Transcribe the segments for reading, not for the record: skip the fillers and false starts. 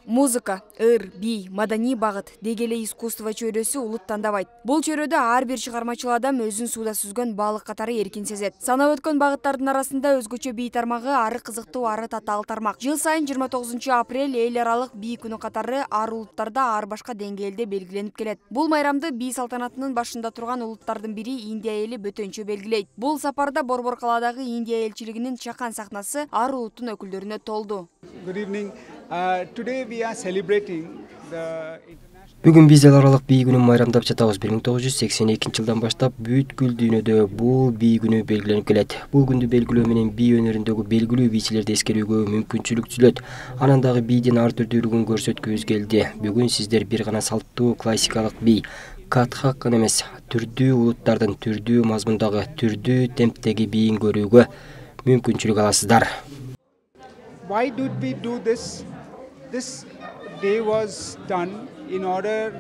Музыка, ыр, би, маданий багыт деги эле искусство чөйрөсү улут тандабайт. Бул чөйрөдө ар бир чыгармачыл адам өзүн сууда сүзгөн балык катары эркин сезет. Санап өткөн багыттардын арасында өзгөчө би тармагы ары кызыктуу, ары татаал тармак. Жыл сайын 29 апрель эл аралык би күнү катары ар улуттарда ар башка деңгээлде белгиленип келет. Бул майрамды би салтанатынын башында турган улуттардын бири Индия эли бөтөнчө белгилейт. Бул сапарда Борбор калаадагы Индия элчилигинин чакан сахнасы ар улуттун өкүлдөрүнө толду. Good evening. Today we are celebrating the Бүгүн биз эл аралык бий күнүн майрамдап жатабыз. 1982 жылдан баштап бүткүл дүйнөдө бул бий күнү белгиленип келет. Бул күндү белгилөө менен бий өнөрүндөгү белгилүү бийчилерди эскерүүгө мүмкүнчүлүк түзүлөт. Анан дагы бийдин ар түрдүүлүгүн көрсөткүбүз келди. Бүгүн сиздер бир гана салттуу классикалык бий, Катхак гана эмес, түрдүү улуттардын түрдүү мазмундагы, түрдүү темптеги бийин көрүүгө мүмкүнчүлүк аласыздар. Why did we do this? This day was done in order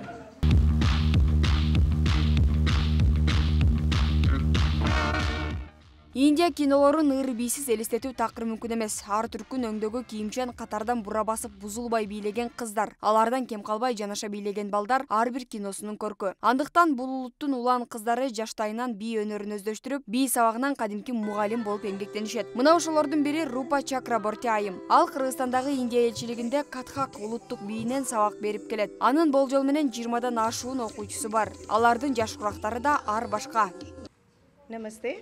Индия кинолорун ыр бийсиз элестетүү такыр мүмкүн эмес. Ар түркүн өңдөгү кийимчен катардан бура басып бузулбай бийлеген кыздар, алардан кем калбай жанаша бийлеген балдар ар бир киносунун көркү. Андыктан бул улуттун улан кыздары жаштайынан бий өнөрүн өздөштүрүп, бий сабагынан кадимки мугалим болуп эмгектенишет. Мына ошолордун бири Рупа Чакраборти айым. Ал Кыргызстандагы Индия элчилигинде Катхак улуттук бийинен сабак берип келет. Анын болжол менен 20дан ашуун окуучусу бар. Алардын жаш курактары да ар башка. Намасте.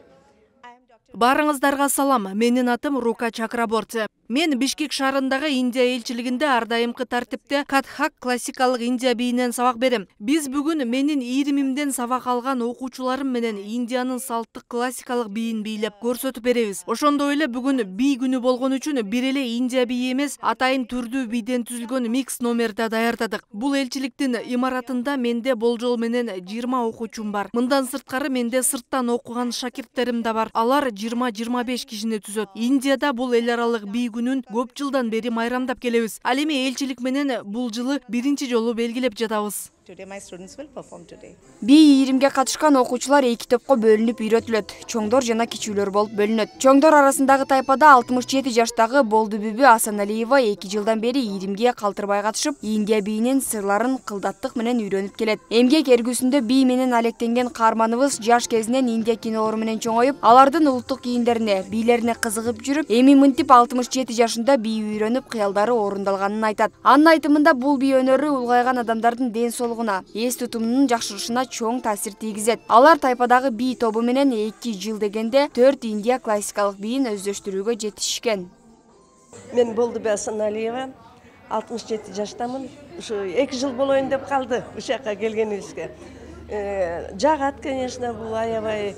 Барыңыздарга салам. Менин атым Рука Чакраборти. Мен Бишкек шаарындагы Индия элчилигинде ар дайымкы тартипте Катхак классикалык Индия бийинен сабак берем. Биз бүгүн менин ийримимден сабак алган окуучуларым менен Индиянын салттык классикалык бийин бийлеп көрсөтүп беребиз. Ошондой эле бүгүн бий күнү болгон үчүн бир эле Индия бийи эмес, атайын түрдүү бийден түзүлгөн микс номерди даярдадык. Бул элчиликтин имаратында менде болжол менен 20 окуучум бар. Мындан сырткары менде сырттан окуган шакирттерим да бар. Алар 20-25 кишини түзөт. Индияда бул эл аралык бий күнүн көп жылдан бери майрамдап келебиз. Ал эми элчилик менен бул жылы биринчи жолу белгилеп жатабыз. Бий ийримге катышкан окуучулар эки топко бөлүнүп үйрөтүлөт. Чоңдор жана кичүүлөр болуп бөлүнөт. Чоңдор арасындагы тайпада 67 жаштагы Болду Бүбү Асаналиева 2 жылдан бери ийримге калтырбай катышып, Индия бийинин сырларын кылдаттык менен үйрөнүп келет. Эмгек эргүүсүндө бий менен алектенген каарманыбыз жаш кезинен Индия кинолору менен чоңоюп, алардын улуттук кийимдерине, бийлерине кызыгып жүрүп, эми мынтип 67 жашында бий үйрөнүп, кыялдары орундалганын айтат. Анын айтымында бул бий өнөрү улгайган адамдардын ден соолугуна, эс тутумунун жакшырышына чоң таасир тийгизет. Алар тайпадагы бий тобу менен 2 жыл дегенде 4 Индия классикалык бийин өздөштүрүүгө жетишкен. Мен Болдубү Асаналиева, 67 жаштамын. Ушу 2 жыл болоюн деп калды ушул жака келгенибизге. Жагат, конечно, бул аябай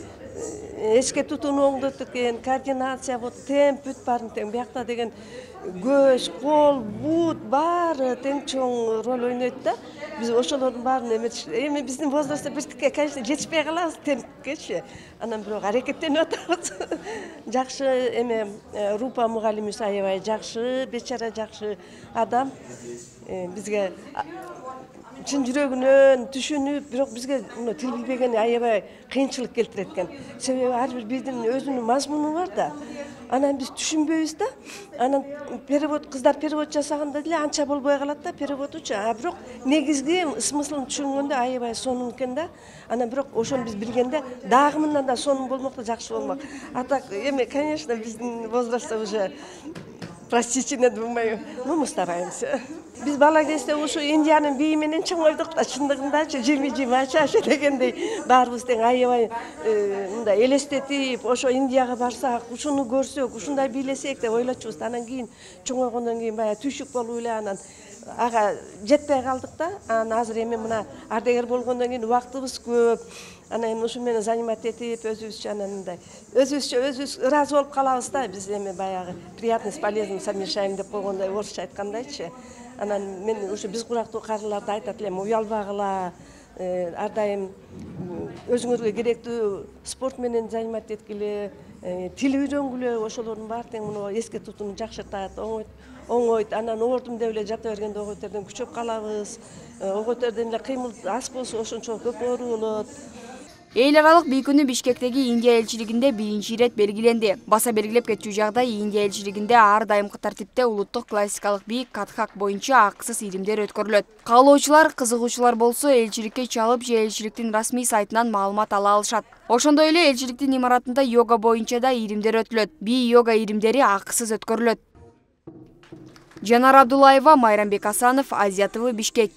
эске тутууну оңдотот экен, координация, вот темп бүт баарын тең. Биякта деген көз, кол, бут баары тең чоң роль ойнойт да. Биз ошолордун баарын эми биздин возрастта биртикке, конечно, жетишпей калабыз темпкечи. Анан бирок аракеттенип атабыз. Жакшы эме Рупа мугалимибиз аябай жакшы, бечара жакшы адам. Бизге чын жүрөгүнөн түшүнүп, бирок бизге тил билбеген аябай кыйынчылык келтирет экен. Себеби ар бир биздин өзүнүн мазмуну бар да. Анан биз түшүнбөйбүз да. Анан перевод, кыздар перевод жасаганда деле анча болбой калат да переводучу. А бирок негизги смыслын түшүнгөндө аябай сонун экен да. Анан бирок ошону биз билгенде дагы мындан да сонун болмок да жакшы болмок. А так эми, конечно, биздин возрастта уже простите, не думаю, мы стараемся. Биз бала кезде ушу Индиянын бийи менен чоңойдук да, чындыгындачы жими-жими дегендей баарыбыз тең аябай мындай элестетип, ошо Индияга барсак, ушуну көрсөк, ушундай бийлесек деп ойлочубуз. Анан кийин чоңойгондон кийин баягы түшүк болуп эле анан ага жетпей калдык да. Анан азыр эми мына ардегер болгондон кийин убактыбыз көп. Анан ушу менен занимать этип, өзүбүзчө анан мындай өзүбүз ыраазы болуп калабыз да. Биз эми баягы приятно с полезным совмещаем деп койгондой, орусча айткандайчы. Анан мен ушу биз курактуу карыларды айтат элем, уялбагыла, ар дайым өзүңөргө керектүү спорт менен занимать эткиле, тил үйрөнгүлө, ошолордун баары тең муну эске тутууну жакшыртат, оңойт. Анан оордум деп эле жата бергенде ойготерден күчөп калабыз. Ойготерден эле кыймыл аз болсо ошончо көп оору болот. Эл аралык бий күнү Бишкектеги Индия элчилигинде биринчи ирет белгиленди. Баса белгилеп кетчү жагдай, Индия элчилигинде ар дайымкы тартипте улуттук классикалык бий Катхак боюнча акысыз иримдер өткөрүлөт. Каалоочулар, кызыгуучулар болсо элчиликке чалып же элчиликтин расмий сайтынан маалымат ала алышат. Ошондой эле элчиликтин имаратында йога боюнча да иримдер өтүлөт. Бий йога иримдери акысыз өткөрүлөт. Жанар Абдуллаева, Майрамбек Асанов, Азия ТВ, Бишкек.